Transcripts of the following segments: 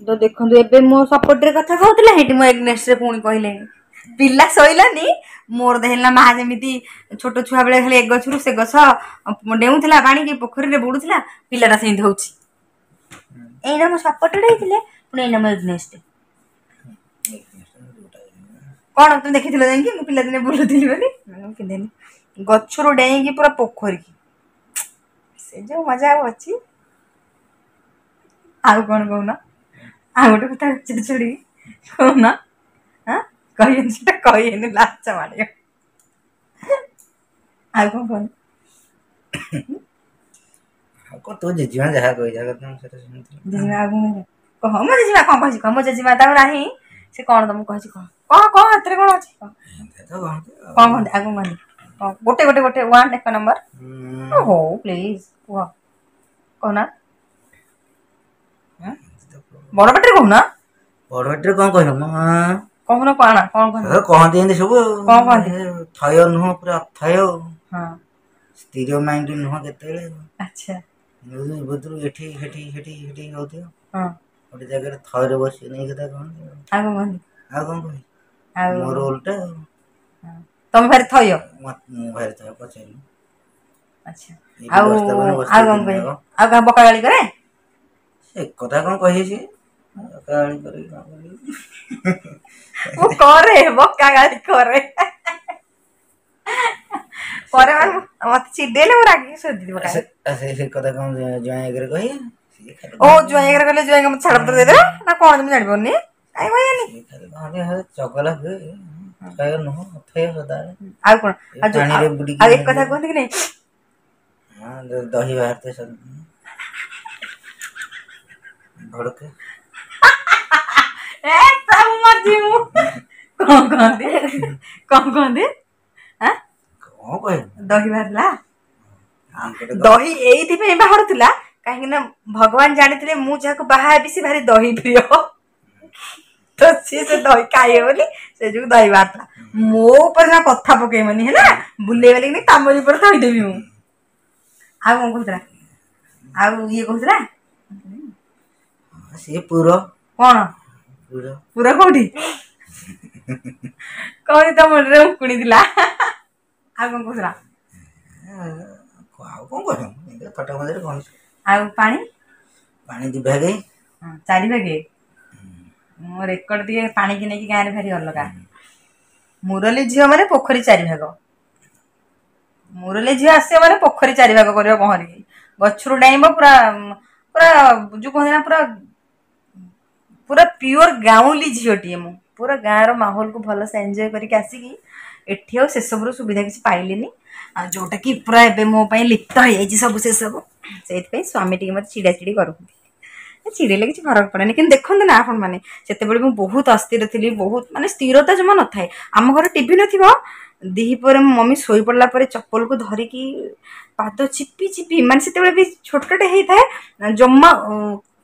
ତ ଦେଖନ୍ତୁ, ଏବେ ମୋ ସପୋର୍ଟରେ କଥା କହୁଥିଲେ, ସେଇଠି ମୋ ଏଗନେଷ୍ଟରେ ପୁଣି କହିଲେଣି। ପିଲା ଶୋଇଲାନି ମୋର ଦେଖିଲା ମା ଯେମିତି ଛୋଟ ଛୁଆ ବେଳେ ଖାଲି ଏ ଗଛରୁ ସେ ଗଛ ଡେଉଁଥିଲା, ପାଣିକି ପୋଖରୀରେ ବୁଡୁଥିଲା, ପିଲାଟା ସେମିତି ହଉଛି। ଏଇନା ମୋ ସପୋର୍ଟରେ ହେଇଥିଲେ, ପୁଣି ଏଇନା ମୋ ଏଗନେଷ୍ଟ। କଣ ତୁମେ ଦେଖିଥିଲ ଯାଇକି ମୁଁ ପିଲାଦିନେ ବୁଲୁଥିଲି ବୋଲି? ମୁଁ ପିନ୍ଧେନି। ଗଛରୁ ଡେଇଁକି ପୁରା ପୋଖରୀକି, ସେ ଯୋଉ ମଜା ଆଉ ଅଛି? ଆଉ କଣ କହୁନ? ଆଉ ଗୋଟେ କଥା ଛାଡ଼ିକି କହୁନ। ହଁ, କହିବେନି, ସେଟା କହିବେନି, ଲାଜ ମାଡ଼ିବ। ଆଉ କଣ କହୁନ? ଆଉ କଣ, ତୋ ଜେଜେମା ଯାହା କହିବା କଥା ମୁଁ ସେଟା ଶୁଣିଥିଲି। ଜେଜେମା ଆଉ କଣ କହ? ମୋ ଜେଜେମା କଣ କହିଛି କହ। ମୋ ଜେଜେମା ତାକୁ ନାହିଁ, ସେ କଣ ତମକୁ କହିଛି କହ। କହ କହ, ଏଥିରେ କଣ ଅଛି, କହ। ଏମିତି ତ କହନ୍ତି ଆଉ। କଣ କହନ୍ତି? ଆଉ କଣ କହନ୍ତି? କଣ? ଗୋଟେ ଗୋଟେ ଗୋଟେ ୱାନ୍, ଏକ ନମ୍ବର। ହଉ, ପ୍ଲିଜ କୁହ, କହୁନା। ଏମିତି ତ ବଡ ପାଟିରେ କହୁନା। ବଡ ପାଟିରେ କଣ କହିବ ମ? କହୁନ, କଣ କଣ କହନ୍ତି? କହନ୍ତି ଏମିତି ସବୁ ଆଉ। କଣ କହନ୍ତି? ଥୟ ନୁହଁ, ପୁରା ଅଥୟ। ସ୍ଥିର ମାଇଣ୍ଡ ନୁହଁ କେତେବେଳେ। ବୁଧରୁ ଏଠି ସେଠି ସେଠି ସେଠି ହଉଥିବ, ଗୋଟେ ଜାଗାରେ ଥୟରେ ବସି ନେଇ କଥା କହନ୍ତି। ଆଉ କଣ କହନ୍ତି? ଆଉ କଣ କହିବି? ଆଉ ମୋର ଓଲଟା ଆଉ। ତମେ ଭାରି ଥୟ? ମୁଁ ଭାରି ଥୟ, ପଚାରିଲି। ଆଚ୍ଛା, ଆଉ ଆଉ କଣ କହିବି? ଆଉ କାହା ବକା ଗାଳି କରେ? ସେ କଥା କଣ କହିଛି? ବକା ଗାଳି କରିବି, କଣ କରିବି? ମୁଁ କରେ, ବକା ଗାଳି କରେ ପରେ। ମାନେ ମତେ ଚିଡେଇଲେ ମୁଁ ରାଗିକି ଶୋଧିବି ପକାଏ। ସେ କଥା କଣ ଜ୍ୱାଇଁ ଆଗରେ କହିବେ? ଓ, ଜ୍ୱାଇଁ ଆଗରେ କହିଲେ ଜ୍ୱାଇଁ ମତେ ଛାଡ଼ପତ୍ର ଦେଇଦେବେ ନା କଣ? ମୁଁ ଜାଣିପାରୁନି, କାଇଁ କହିବେନି? ଖାଲି କହନ୍ତି ଚଗଲା ହୁଏ, ଥୟ ନୁହଁ, ଅଥୟ ସଦାବେଳେ। ଆଉ କଣ? ପାଣିରେ ବୁଡିକି। ଆଉ ଏକ କଥା କୁହନ୍ତି କି ନାଇଁ? ହଁ, ଦହି ବାହାରିଥାଏ ଭଡ଼କେ। ଏ ମରିଯିବି ମୁଁ। କଣ କହନ୍ତି? କଣ କହନ୍ତି? କଣ କହିବି? ଦହି ବାହାରିଲା। ଦହି ଏଇଥିପାଇଁ ବାହାରୁଥିଲା କାହିଁକି ନା ଭଗବାନ ଜାଣିଥିଲେ ମୁଁ ଯାହାକୁ ବାହା ହେବି ସେ ଭାରି ଦହି ପ୍ରିୟ, ତ ସିଏ ସେ ଦହି ଖାଇବେ ବୋଲି ସେ ଯୋଗୁ ଦହି ବାହାରିଥିଲା। ମୋ ଉପରେ ଜମା କଥା ପକେଇବନି, ହେଲା? ବୁଲେଇ ବାଲିକି ତମରି ଉପରେ ଥୋଇଦେବି ମୁଁ। ଆଉ କଣ କହୁଥିଲା? ଆଉ ଇଏ କହୁଥିଲା? ସିଏ ପୁର। କଣ ପୁର? କୋଉଠି କହୁଛି? ତମ ମୁଣ୍ଡରେ ଉଙ୍କୁଣି ଥିଲା। ଆଉ କଣ କହୁଥିଲା? ଆଉ କଣ କହିବ? ଥଟା ମଜାରେ କଣ? ଆଉ ପାଣି, ପାଣି ଦି ଭାଗେ, ଚାରି ଭାଗେ। ମୋ ରେକର୍ଡ ଟିକେ ପାଣିକି ନେଇକି ଗାଁରେ ଭାରି ଅଲଗା। ମୁରଲି ଝିଅ ମାନେ ପୋଖରୀ ଚାରି ଭାଗ। ମୁରଲି ଝିଅ ଆସିବ ମାନେ ପୋଖରୀ ଚାରି ଭାଗ କରିବ ପହଁରିକି, ଗଛରୁ ଡେଇଁବ। ପୁରା ପୁରା ଯୋଉ କୁହନ୍ତି ନା, ପୁରା ପୁରା ପିଓର ଗାଉଁଲି ଝିଅଟିଏ ମୁଁ। ପୁରା ଗାଁର ମାହୋଲକୁ ଭଲସେ ଏନ୍ଜୟ କରିକି ଆସିକି ଏଠି ଆଉ ସେସବୁର ସୁବିଧା କିଛି ପାଇଲିନି, ଆଉ ଯୋଉଟାକି ପୁରା ଏବେ ମୋ ପାଇଁ ଲିପ୍ତ ହେଇଯାଇଛି ସବୁ ସେସବୁ। ସେଇଥିପାଇଁ ସ୍ୱାମୀ ଟିକେ ମୋତେ ଚିଡ଼ାଚିଡ଼ି କରୁଛନ୍ତି। ଚିଡ଼େଇଲେ କିଛି ଫରକ ପଡ଼େନି, କିନ୍ତୁ ଦେଖନ୍ତୁ ନା ଆପଣମାନେ, ସେତେବେଳେ ମୁଁ ବହୁତ ଅସ୍ଥିର ଥିଲି, ବହୁତ ମାନେ ସ୍ଥିରତା ଜମା ନଥାଏ। ଆମ ଘରେ ଟିଭି ନଥିବ, ଦ୍ୱିପହରେ ମୋ ମମି ଶୋଇପଡ଼ିଲା ପରେ ଚପଲକୁ ଧରିକି ପାଦ ଚିପି ଚିପି, ମାନେ ସେତେବେଳେ ବି ଛୋଟଟେ ହେଇଥାଏ, ଜମା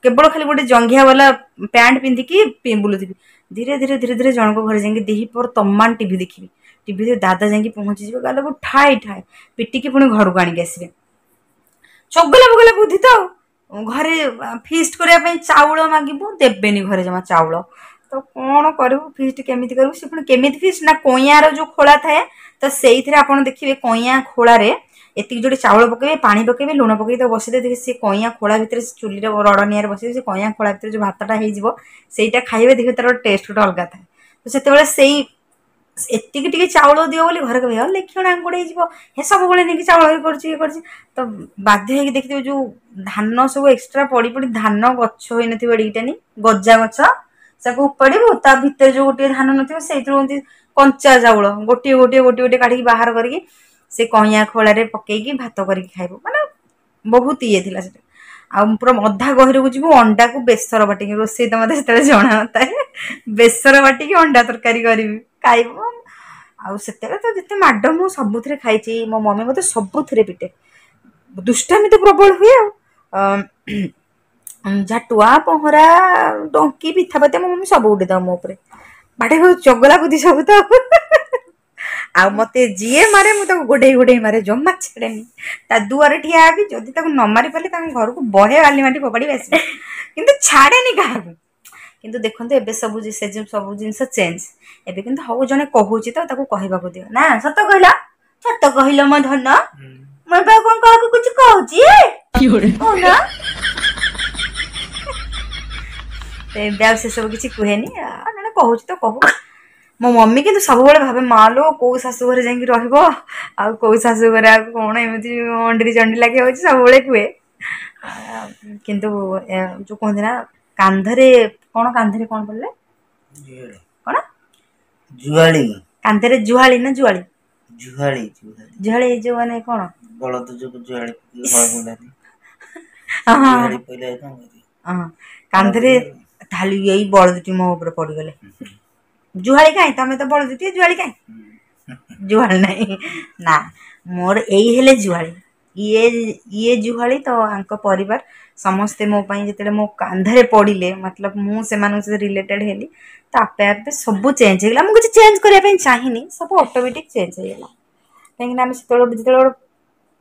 କେବଳ ଖାଲି ଗୋଟେ ଜଙ୍ଘିଆ ବାଲା ପ୍ୟାଣ୍ଟ ପିନ୍ଧିକି ବୁଲୁଥିବି। ଧୀରେ ଧୀରେ ଧୀରେ ଧୀରେ ଜଣଙ୍କ ଘରେ ଯାଇକି ଦ୍ୱିପହର ତମାମ ଟିଭି ଦେଖିବି। ଟିଭିରେ ଦାଦା ଯାଇକି ପହଞ୍ଚିଯିବେ, ଗାଲକୁ ଠାଏ ଠାଏ ପିଟିକି ପୁଣି ଘରକୁ ଆଣିକି ଆସିବେ। ଚଗଲା ବଗଲା ବୁଦ୍ଧି ତ। ଆଉ ଘରେ ଫିଷ୍ଟ କରିବା ପାଇଁ ଚାଉଳ ମାଗିବୁ, ଦେବେନି ଘରେ ଜମା ଚାଉଳ। ତ କ'ଣ କରିବୁ? ଫିଷ୍ଟ କେମିତି କରିବୁ? ସେ ପୁଣି କେମିତି ଫିଷ୍ଟ ନା କଇଁଆର ଯୋଉ ଖୋଳା ଥାଏ, ତ ସେଇଥିରେ ଆପଣ ଦେଖିବେ କଇଁଆ ଖୋଳାରେ ଏତିକି ଯୋଉଠି ଚାଉଳ ପକେଇବେ, ପାଣି ପକେଇବେ, ଲୁଣ ପକେଇକି ତାକୁ ବସେଇଦେବେ। ଦେଖିବେ ସେ କଇଁଆ ଖୋଳା ଭିତରେ, ଚୁଲିରେ ରଡ଼ ନିଆଁରେ ବସେଇବେ, ସେ କଇଁଆ ଖୋଳା ଭିତରେ ଯୋଉ ଭାତଟା ହେଇଯିବ ସେଇଟା ଖାଇବେ, ଦେଖିବେ ତାର ଟେଷ୍ଟ ଗୋଟେ ଅଲଗା ଥାଏ। ତ ସେତେବେଳେ ସେଇ ଏତିକି ଟିକେ ଚାଉଳ ଦିଅ ବୋଲି ଘରେ କହିବେ, ଲେଖିଣ ଆଙ୍ଗୁଡ଼ି ହେଇଯିବ, ହେ ସବୁବେଳେ ନେଇକି ଚାଉଳ ଇଏ କରୁଛି, ଇଏ କରୁଛି। ତ ବାଧ୍ୟ ହେଇକି ଦେଖିଥିବେ ଯୋଉ ଧାନ ସବୁ ଏକ୍ସଟ୍ରା ପଡ଼ି ପଡ଼ି ଧାନ ଗଛ ହେଇନଥିବ ଏଡ଼ିକିଟାନି ଗଜା ଗଛ, ତାକୁ ଉପାଡ଼ିବୁ, ତା ଭିତରେ ଯୋଉ ଗୋଟିଏ ଧାନ ନଥିବ ସେଇଥିରୁ ଏମିତି କଞ୍ଚା ଚାଉଳ ଗୋଟିଏ ଗୋଟିଏ ଗୋଟିଏ ଗୋଟିଏ କାଢ଼ିକି ବାହାର କରିକି ସେ କଇଁଆ ଖୋଳାରେ ପକେଇକି ଭାତ କରିକି ଖାଇବୁ। ମାନେ ବହୁତ ଇଏ ଥିଲା ସେଟା। ଆଉ ପୁରା ଅଧା ଗହିରକୁ ଯିବୁ, ଅଣ୍ଡାକୁ ବେସର ବାଟିକି, ରୋଷେଇ ତ ମୋତେ ସେତେବେଳେ ଜଣା ନଥାଏ, ବେସର ବାଟିକି ଅଣ୍ଡା ତରକାରୀ କରିବି, ଖାଇବୁ। ଆଉ ସେତେବେଳେ ତ ଯେତେ ମାଡ଼ ମୁଁ ସବୁଥିରେ ଖାଇଛି। ମୋ ମମି ମୋତେ ସବୁଥିରେ ପିଟେ। ଦୁଷ୍ଟାମି ତ ପ୍ରବଳ ହୁଏ। ଆଉ ଝାଟୁଆ, ପହଁରା, ଡଙ୍କି, ପିଠାପତି, ମୋ ମମି ସବୁ ଉଠେଇଦେବ ମୋ ଉପରେ ବାଡ଼େଇ। ଚଗଲା ବୁଦ୍ଧି ସବୁ ତ। ଆଉ ମତେ ଯିଏ ମାରେ ମୁଁ ତାକୁ ଗୋଡ଼େଇ ଗୋଡ଼େଇ ମାରେ, ଜମା ଛାଡ଼େନି। ତା ଦୁଆରେ ଠିଆ ହେବି, ଯଦି ତାକୁ ନ ମାରି ପାରିଲି ତାଙ୍କ ଘରକୁ ବହେ ବାଲି ମାଟି ଫୋପାଡ଼ିବି ଆସିବି, କିନ୍ତୁ ଛାଡ଼େନି କାହାକୁ। କିନ୍ତୁ ଦେଖନ୍ତୁ ଏବେ ସବୁ ସେ ସବୁ ଜିନିଷ ଚେଞ୍ଜ ଏବେ। କିନ୍ତୁ ହଉ, ଜଣେ କହୁଛି ତ ତାକୁ କହିବାକୁ ଦିଅ ନା। ସତ କହିଲ, ସତ କହିଲ ମୋ ଧନ। ମୁଁ ଏବେ ଆଉ କଣ କାହାକୁ କିଛି କହୁଛି କହୁନ? ଏବେ ଆଉ ସେସବୁ କିଛି କୁହେନି। ଜଣେ କହୁଛି ତ କହୁ। ମୋ ମମି କିନ୍ତୁ ସବୁବେଳେ ଭାବେ, ମା ଲୋ, କୋଉ ଶାଶୁ ଘରେ ଯାଇକି ରହିବ, ଆଉ କୋଉ ଶାଶୁ ଘରେ ଆଉ କଣ ଏମିତି ଅଣ୍ଡିରି ଚଣ୍ଡି ଲାଗି ହଉଛି, ସବୁବେଳେ କୁହେ। କିନ୍ତୁ ଯୋଉ କୁହନ୍ତି ନା, କାନ୍ଧରେ କଣ, କାନ୍ଧରେ କଣ ପଡ଼ିଲେ କଣ, ଜୁଆଳି, କାନ୍ଧରେ ଜୁହାଳି ନା ଜୁଆଳି? ଜୁହାଳି, ଜୁହାଳି। ଯୋଉ ମାନେ କଣ, ବଳଦ ଯୋଉ ଜୁହାଳି, ହଁ, କାନ୍ଧରେ। ତାହେଲେ ଏଇ ବଳଦଟି ମୋ ଉପରେ ପଡିଗଲେ ଜୁହାଳି କାହିଁ? ତମେ ତ ବଳଦଟିଏ, ଜୁହାଳି କାହିଁ? ଜୁହାଳି ନାହିଁ ନା ମୋର। ଏଇ ହେଲେ ଜୁହାଳି, ଇଏ ଜୁହାଳି ତ। ଆଙ୍କ ପରିବାର ସମସ୍ତେ ମୋ ପାଇଁ ଯେତେବେଳେ ମୋ କାନ୍ଧରେ ପଡ଼ିଲେ, ମତଲବ ମୁଁ ସେମାନଙ୍କ ସହିତ ରିଲେଟେଡ୍ ହେଲି, ତ ଆପେ ଆପେ ସବୁ ଚେଞ୍ଜ ହେଇଗଲା। ମୁଁ କିଛି ଚେଞ୍ଜ କରିବା ପାଇଁ ଚାହିଁନି, ସବୁ ଅଟୋମେଟିକ୍ ଚେଞ୍ଜ ହେଇଗଲା। କାହିଁକିନା ଆମେ ସେତେବେଳେ ଯେତେବେଳେ ଗୋଟେ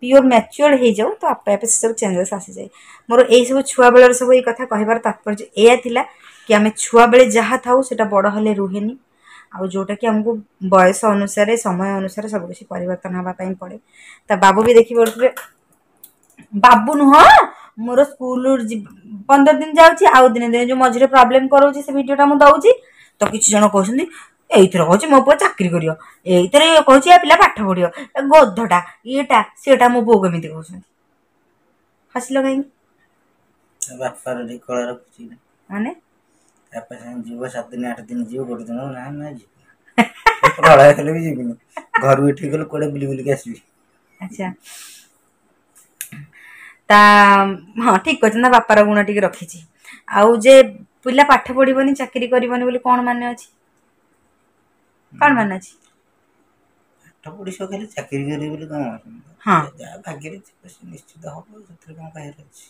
ପିଓର ମ୍ୟାଚୁଅର୍ଡ ହେଇଯାଉ, ତ ଆପେ ଆପେ ସେସବୁ ଚେଞ୍ଜେସ୍ ଆସିଯାଏ। ମୋର ଏଇସବୁ ଛୁଆବେଳର ସବୁ ଏଇ କଥା କହିବାର ତାତ୍ପର୍ଯ୍ୟ ଏଇଆ ଥିଲା କି ଆମେ ଛୁଆବେଳେ ଯାହା ଥାଉ ସେଇଟା ବଡ଼ ହେଲେ ରୁହେନି, ଆଉ ଯେଉଁଟାକି ଆମକୁ ବୟସ ଅନୁସାରେ, ସମୟ ଅନୁସାରେ ସବୁକିଛି ପରିବର୍ତ୍ତନ ହେବା ପାଇଁ ପଡ଼େ। ତା ବାବୁ ବି ଦେଖିପାରୁଥିବେ, ବାବୁ ନୁହଁ, ମୋର ସ୍କୁଲ 15 ଦିନ ଯାଉଛି ଆଉ ଦିନେ ଦିନେ ଯେଉଁ ମଝିରେ ପ୍ରୋବ୍ଲେମ୍ କରାଉଛି, ସେ ଭିଡ଼ିଓଟା ମୁଁ ଦେଉଛି ତ କିଛି ଜଣ କହୁଛନ୍ତି, ଏଇଥିରେ କହୁଛି ମୋ ପୁଅ ଚାକିରି କରିବ, ଏଇଥିରେ କହୁଛି ଏ ପିଲା ପାଠ ପଢ଼ିବ, ଏ ଗଧଟା, ଇଏଟା ସିଏଟା, ମୋ ପୁଅକୁ ଏମିତି କହୁଛନ୍ତି। ହସିଲ କାହିଁକି? ବାପାର ଟିକେ କଳା ରଖୁଛି। ମାନେ ବାପା ସାଙ୍ଗେ ଯିବ, 7 ଦିନ 8 ଦିନ ଯିବ, ଗୋଟେ ଦିନ ନା ନା ଯିବି, ପ୍ରଳୟ ହେଲେ ବି ଯିବିନି, ଘରୁ ଏଠି ଗଲେ କୁଆଡ଼େ ବୁଲି ବୁଲିକି ଆସିବି। ଆଚ୍ଛା, ତା ହଁ, ଠିକ କହିଛନ୍ତି ନା, ବାପାର ଗୁଣ ଟିକେ ରଖିଛି। ଆଉ ଯେ ପିଲା ପାଠ ପଢ଼ିବନି, ଚାକିରି କରିବନି ବୋଲି କ'ଣ ମାନେ ଅଛି? କ'ଣ ମାନେ ଅଛି? ପାଠ ପଢ଼ି ଖାଲି ଚାକିରି କରିବି ବୋଲି କ'ଣ? ହଁ, ଯାହା ଭାଗ୍ୟରେ ଥିବ ସେ ନିଶ୍ଚିତ ହବ, ସେଥିରେ କ'ଣ କହିବାର ଅଛି?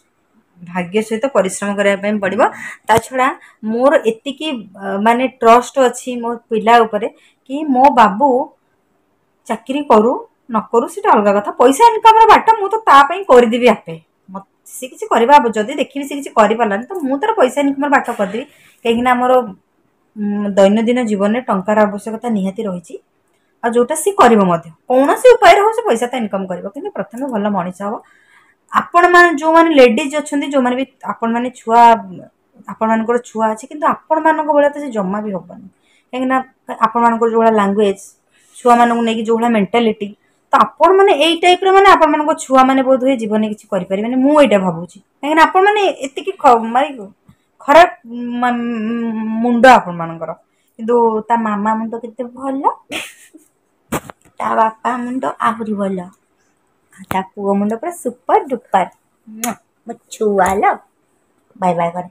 ଭାଗ୍ୟ ସହିତ ପରିଶ୍ରମ କରିବା ପାଇଁ ପଡ଼ିବ। ତା ଛଡ଼ା ମୋର ଏତିକି ମାନେ ଟ୍ରଷ୍ଟ ଅଛି ମୋ ପିଲା ଉପରେ କି ମୋ ବାବୁ ଚାକିରି କରୁ ନ କରୁ ସେଇଟା ଅଲଗା କଥା, ପଇସା ଇନକମ୍ର ବାଟ ମୁଁ ତ ତା ପାଇଁ କରିଦେବି ଆପେ। ସେ କିଛି କରିବା ଯଦି ଦେଖିବି ସେ କିଛି କରିପାରିଲାନି, ତ ମୁଁ ତାର ପଇସା ଇନକମ୍ର ବାଟ କରିଦେବି। କାହିଁକିନା ଆମର ଦୈନନ୍ଦିନ ଜୀବନରେ ଟଙ୍କାର ଆବଶ୍ୟକତା ନିହାତି ରହିଛି, ଆଉ ଯେଉଁଟା ସେ କରିବ ମଧ୍ୟ, କୌଣସି ଉପାୟରେ ହଉ ସେ ପଇସା ତ ଇନକମ୍ କରିବ, କିନ୍ତୁ ପ୍ରଥମେ ଭଲ ମଣିଷ ହେବ। ଆପଣମାନେ ଯେଉଁମାନେ ଲେଡ଼ିଜ୍ ଅଛନ୍ତି, ଯେଉଁମାନେ ବି ଆପଣମାନେ ଛୁଆ, ଆପଣମାନଙ୍କର ଛୁଆ ଅଛି, କିନ୍ତୁ ଆପଣମାନଙ୍କ ଭଳିଆ ତ ସେ ଜମା ବି ହେବନି। କାହିଁକିନା ଆପଣମାନଙ୍କର ଯେଉଁ ଭଳିଆ ଲାଙ୍ଗୁଏଜ୍, ଛୁଆମାନଙ୍କୁ ନେଇକି ଯେଉଁ ଭଳିଆ ମେଣ୍ଟାଲିଟି, ତ ଆପଣମାନେ ଏଇ ଟାଇପ୍ର, ମାନେ ଆପଣମାନଙ୍କ ଛୁଆମାନେ ବୋଧ ହୁଏ ଜୀବନରେ କିଛି କରିପାରିବେନି, ମୁଁ ଏଇଟା ଭାବୁଛି। କାହିଁକିନା ଆପଣମାନେ ଏତିକି ମାନେ ଖରାପ ମୁଣ୍ଡ ଆପଣମାନଙ୍କର। କିନ୍ତୁ ତା ମାମା ମୁଣ୍ଡ କେତେ ଭଲ, ତା ବାପା ମୁଣ୍ଡ ଆହୁରି ଭଲ, ତା ପୁଅ ମୁଣ୍ଡ ପୁରା ସୁପର ଡୁପର। ମୋ ଛୁଆ ଲୋ, ବାଇ ବାଇ କରେ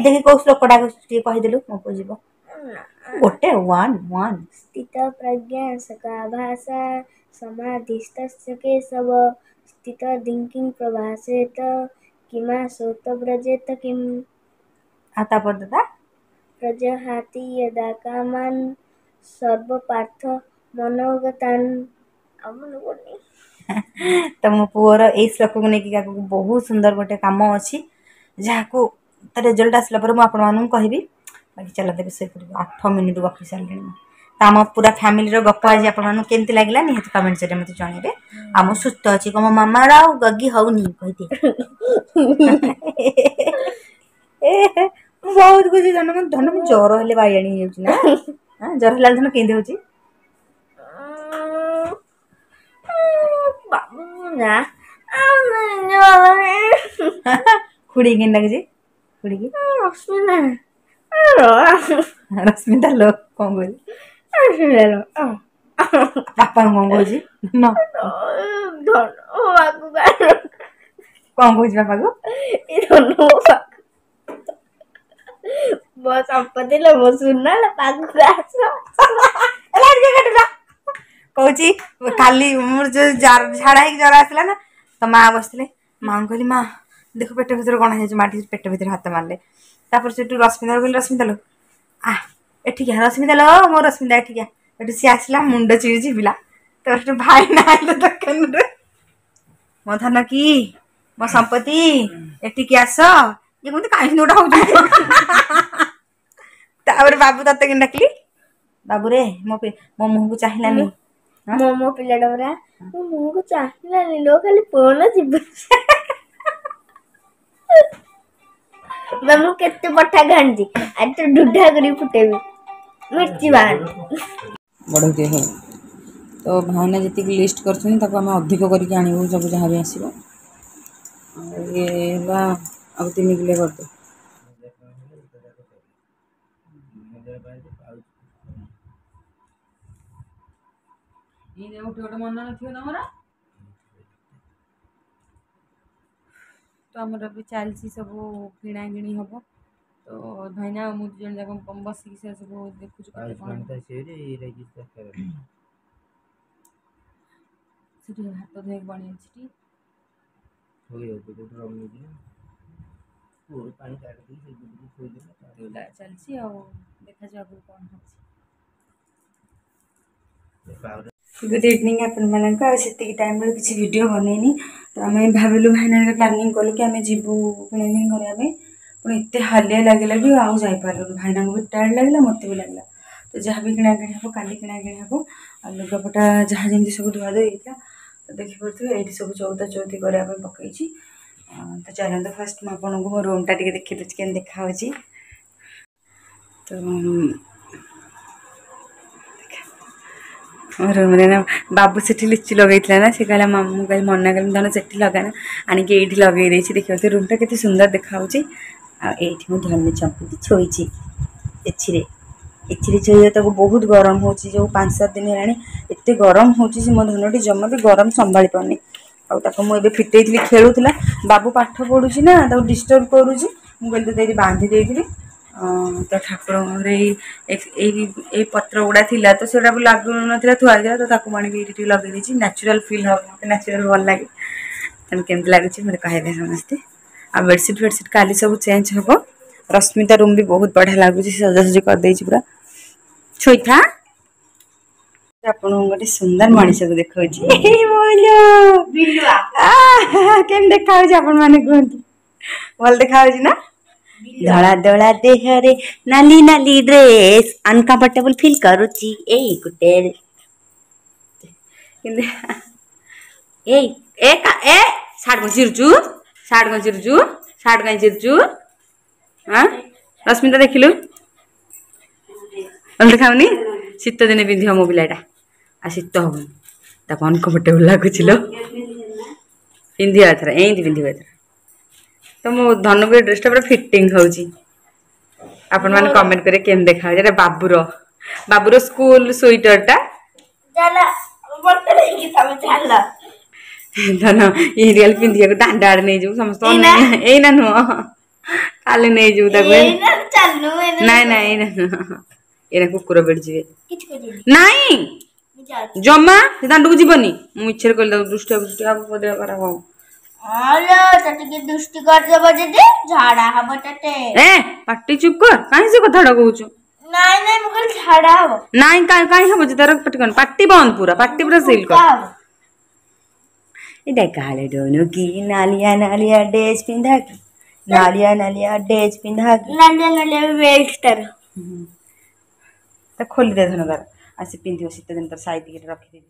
ଦେଖି। କୋଉ ଶ୍ଲୋକଟା ଟିକେ କହିଦେଲୁ, ମୋ ପୁଅ ଯିବ ଗୋଟେ 1 1। ସ୍ଥିତ ପ୍ରଜ୍ଞା ସକା ଭାଷା ସମାଧିସ୍ତସ୍ୟ କେଶବ, ସ୍ଥିତ ଧିଙ୍କିଂ ପ୍ରଭାସେତ କିମା ସୋତ ବ୍ରଜେତ କିମ୍। ଆଉ ତାପରେ ଦାଦା, ପ୍ରଜହାତି ଯଦା କାମାନ୍ ସର୍ବପାର୍ଥ ମନୋଗତାନ୍। ଆଉ ମନେ ପଡୁନି। ତ ମୋ ପୁଅର ଏଇ ଶ୍ଲୋକକୁ ନେଇକି ଆଗକୁ ବହୁତ ସୁନ୍ଦର ଗୋଟେ କାମ ଅଛି, ଯାହାକୁ ତା ରେଜଲ୍ଟ ଆସିଲା ପରେ ମୁଁ ଆପଣମାନଙ୍କୁ କହିବି। ବାକି ଚାଲ ଦେବେ ଶୋଇପଡ଼ିବ, 8 ମିନିଟ୍ ଗପି ସାରିଲିଣି ମୁଁ। ତ ଆମ ପୁରା ଫ୍ୟାମିଲିର ଗପ ଆଜି ଆପଣମାନଙ୍କୁ କେମିତି ଲାଗିଲା, ନିହାତି କମେଣ୍ଟ ଜରିଆରେ ମୋତେ ଜଣାଇବେ। ଆଉ ମୁଁ ସୁସ୍ଥ ଅଛି କଣ, ମୋ ମାମାର ଆଉ ଗଗି ହଉନି କହିଦିଏ। ମୁଁ ବହୁତ ଖୁସି ଧନ। ଧନ, ମୁଁ ଜ୍ୱର ହେଲେ ବାଇଆଣି ହେଇଯାଉଛି ନା? ଜ୍ୱର ହେଲା ଧନ କେମିତି ହଉଛି? ଖୁଡ଼ି କେମିତି ଲାଗୁଛି? ଖୁଡ଼ିକି ରଶ୍ମିତା ଲୋ, କଣ କହୁଛି? ବାପାଙ୍କୁ କଣ କହୁଛି? କଣ କହୁଛି ବାପାକୁ? ମୋ ସମ୍ପତ୍ତି ଲୋ, ମୋ ସୁନା ଲୋ, ପାଖକୁ ଆସ। କହୁଛି କାଲି ମୋର ଯୋଉ ଝାଡା ହେଇକି ଜ୍ୱର ଆସିଲା ନା, ତ ମା ବସିଥିଲେ, ମାଙ୍କୁ କହିଲି, ମା ଦେଖ ପେଟ ଭିତରେ କଣ ହେଇଯାଇଛି। ମା ଟିକେ ପେଟ ଭିତରେ ହାତ ମାରିଲେ। ତାପରେ ସେଠୁ ରଶ୍ମିତା କହିଲି, ରଶ୍ମିତା ଲୋ, ଆ ଏଠିକି ରଶ୍ମିତା ଲୋ, ମୋ ରଶ୍ମିତା ଏଠିକି। ଏଠୁ ସିଏ ଆସିଲା, ମୁଣ୍ଡ ଚିରି ଚିପିଲା। ତାପରେ ସେଠୁ ଭାଇନା ଆଇଲେ ଦୋକାନରେ, ମୋ ଧନ କି ମୋ ସମ୍ପତ୍ତି ଏଠିକି ଆସ। ଇଏ କୁହନ୍ତି କାହିଁକି ଗୋଟେ ହଉଛି। ଆଉ ବାବୁ ତତେ କେମିତି ଡାକିଲି? ବାବୁରେ, ମୋ ମୋ ମୁହଁକୁ ଚାହିଁଲାନି। ମୋ ପିଲାଟା ପରା ମୋ ମୁହଁକୁ ଚାହିଁଲାନି ଲୋ, ଖାଲି ଫୋନ ଯିବ। ମୁଁ କେତେ ପଠା ଘାଣ୍ଟି ଆଜି ତ ଢୁଢା କରି ଫୁଟେଇବି ମିର୍ଚି ବାହାର ବଢ଼େଇ ହଉ। ତ ଭାଇନା ଯେତିକି ଲିଷ୍ଟ କରିଛନ୍ତି ତାକୁ ଆମେ ଅଧିକ କରିକି ଆଣିବୁ, ସବୁ ଯାହା ବି ଆସିବ। ଆଉ ଇଏ ହେଲା ଆଉ 3 କିଲୋ କରିଦେ। ଗୋଟେ ଗୋଟେ ମନ ନଥିବ ତମର। ତ ଆମର ବି ଚାଲିଛି ସବୁ କିଣାକିଣି ହେବ। ତ ଭାଇନା ଆଉ ମୁଁ 2 ଜଣ ଯାକ ବସିକି ସେ ସବୁ ଦେଖୁଛୁ କେତେ କ'ଣ। ସେଠି ହାତ ଧୋଇବାକୁ ପାଣି ଅଛି ଟି। ଚାଲିଛି ଆଉ ଦେଖାଯାଉ ଆଗକୁ କ'ଣ ହେଉଛି। ଗୁଡ୍ ଇଭିନିଂ ଆପଣମାନଙ୍କୁ। ଆଉ ସେତିକି ଟାଇମ୍ ବେଳେ କିଛି ଭିଡ଼ିଓ ବନେଇନି। ତ ଆମେ ଭାବିଲୁ, ଭାଇନା ପ୍ଲାନିଂ କଲୁ କି ଆମେ ଯିବୁ କିଣାକିଣି କରିବା ପାଇଁ। ପୁଣି ଏତେ ହାଲିଆ ଲାଗିଲା କି ଆଉ ଯାଇପାରିଲୁନି। ଭାଇନାଙ୍କୁ ବି ଟାୟାର୍ଡ଼ ଲାଗିଲା, ମୋତେ ବି ଲାଗିଲା। ତ ଯାହା ବି କିଣାକିଣି ହେବ କାଲି କିଣାକିଣି ହେବ। ଆଉ ଲୁଗାପଟା ଯାହା ଯେମିତି ସବୁ ଧୁଆ ଧୁଇ ହେଇଥିଲା ତ ଦେଖିପାରୁଥିବେ, ଏଇଠି ସବୁ ଚଉତା ଚଉତି କରିବା ପାଇଁ ପକେଇଛି। ତ ଚାଲନ୍ତୁ, ଫାଷ୍ଟ ମୁଁ ଆପଣଙ୍କୁ ମୋ ରୁମ୍ଟା ଟିକେ ଦେଖିଦେଉଛି କେମିତି ଦେଖାହେଉଛି। ତ ମୋ ରୁମ୍ରେ ନା ବାବୁ ସେଠି ଲିଚୁ ଲଗେଇଥିଲା ନା, ସେ କହିଲା ମୁଁ କହିଲି ମନା କଲି, ଧନ ସେଠି ଲଗାନା, ଆଣିକି ଏଇଠି ଲଗେଇ ଦେଇଛି। ଦେଖିପାରୁଥିବେ ରୁମ୍ଟା କେତେ ସୁନ୍ଦର ଦେଖାହେଉଛି। ଆଉ ଏଇଠି ମୁଁ ଧନୁ ଚମ୍ପୁଟି ଶୋଇଛି ଏଥିରେ ଏଥିରେ ଶୋଇବା। ତାକୁ ବହୁତ ଗରମ ହେଉଛି, ଯେଉଁ 5-7 ଦିନ ହେଲାଣି ଏତେ ଗରମ ହେଉଛି ଯେ ମୋ ଧନଟି ଜମା ବି ଗରମ ସମ୍ଭାଳି ପାରୁନି। ଆଉ ତାକୁ ମୁଁ ଏବେ ଫିଟେଇଥିଲି, ଖେଳୁଥିଲା। ବାବୁ ପାଠ ପଢ଼ୁଛି ନା, ତାକୁ ଡିଷ୍ଟର୍ବ କରୁଛି। ମୁଁ କହିଲି ତୋତେ ଏଇଠି ବାନ୍ଧି ଦେଇଥିଲି। ତ ଠାକୁରଙ୍କ ଘରେ ଏଇ ଏଇ ଏଇ ପତ୍ର ଗୁଡ଼ା ଥିଲା, ତ ସେଗୁଡ଼ା ବି ଲାଗୁନଥିଲା, ଥୁଆ ହେଇଥିଲା, ତ ତାକୁ ଆଣିକି ଏଇଠି ଟିକେ ଲଗେଇ ଦେଇଛି। ନ୍ୟାଚୁରାଲ୍ ଫିଲ୍ ହେବ, ମୋତେ ନ୍ୟାଚୁରାଲ୍ ଭଲ ଲାଗେ। ତେଣୁ କେମିତି ଲାଗୁଛି ମୋତେ କହିବେ ସମସ୍ତେ। ଆଉ ବେଡ଼ସିଟ୍ ଫେଡ଼ସିଟ୍ କାଲି ସବୁ ଚେଞ୍ଜ ହେବ। ରଶ୍ମିତା ରୁମ୍ ବି ବହୁତ ବଢ଼ିଆ ଲାଗୁଛି, ସଜାସଜି କରିଦେଇଛି ପୁରା। ଶୋଇଥା। ଆପଣଙ୍କୁ ଗୋଟେ ସୁନ୍ଦର ମଣିଷକୁ ଦେଖାଉଛି। କେମିତି ଦେଖାଯାଉଛି ଆପଣମାନେ କୁହନ୍ତୁ, ଭଲ ଦେଖାଯାଉଛି ନା? ଧଳା ଧଳା ଦେହରେ ନାଲି ନାଲି ଡ୍ରେସ୍, ଅନକମ୍ଫର୍ଟେବଲ ଫିଲ୍ କରୁଛି ଏଇ ଗୋଟେ। ଏଇ ଏ ଏ ସାର୍ଟ କଣ ଚିରୁଛୁ? ସାର୍ଟ କଣ ଚିରୁଛୁ? ସାର୍ଟ କାଇଁ ଚିରୁଛୁ? ହଁ ରଶ୍ମିତା, ଦେଖିଲୁ, ଭଲ ଦେଖାଉନି? ଶୀତ ଦିନେ ପିନ୍ଧିବ ମୋ ପିଲାଟା, ଆଉ ଶୀତ ହବନି ତାକୁ। ଅନକମ୍ଫର୍ଟେବଲ ଲାଗୁଛି ଲୋ। ପିନ୍ଧିବ ଏଥର, ଏମିତି ପିନ୍ଧିବ ଏଥର। ତ ମୋ ଧନକୁ ଏ ଡ୍ରେସଟା ପୁରା ଫିଟିଂ ହେଉଛି। ଆପଣମାନେ କମେଣ୍ଟ କରିବେ କେମିତି ଦେଖାଯାଉଛି। ଏଇଟା ବାବୁର ବାବୁର ସ୍କୁଲ ସୁଇଟରଟା। ଧନ ଏମିତି ଖାଲି ପିନ୍ଧିବାକୁ ଦାଣ୍ଡ ଆଡ଼େ ନେଇଯିବୁ ସମସ୍ତ। ଏଇନା ନୁହଁ, କାଲି ନେଇଯିବୁ ତାକୁ। ନାଇଁ ନାଇଁ, ଏଇନା ନୁହଁ, ଏଇନା କୁକୁର ବେଢ଼ିଯିବେ। ନାଇଁ ଜମା ସେ ଦାଣ୍ଡକୁ ଯିବନି। ମୁଁ ମିଛରେ କହିଲି ତାକୁ, ଦୃଷ୍ଟି ଦୃଷ୍ଟି ହବ, ଦେହ ଖରାପ ହବ। ଦୃଷ୍ଟି କରିଦେବ ଯଦି ଝାଡା ହବ ତତେ। ଏ ପାଟି ଚୁପ୍ କର, କାହିଁ ସେ କଥାଟା କହୁଛୁ? ନାଇଁ ନାଇଁ, ମୁଁ କହିଲି ଝାଡା ହବ। ନାଇଁ, କାହିଁ ହବ ଯେ ତାର? ପାଟି କର, ପାଟି ବନ୍ଦ, ପୁରା ପାଟି ପୁରା ସିଲ୍ କର। ଏଇଟା କାଳେ ଡୋନୁ କି ନାଲିଆ ନାଲିଆ ଡ୍ରେସ୍ ପିନ୍ଧା କି, ନାଲିଆ ନାଲିଆ ଡ୍ରେସ୍ ପିନ୍ଧା କି, ନାଲିଆ ନାଲିଆ ବେଲ୍ଟ ତାର। ତା ଖୋଲିଦେ ଧନ ତାର, ଆଉ ସେ ପିନ୍ଧିବ ଶୀତ ଦିନ, ତାର ସାଇତିକି ରଖିଦେବି।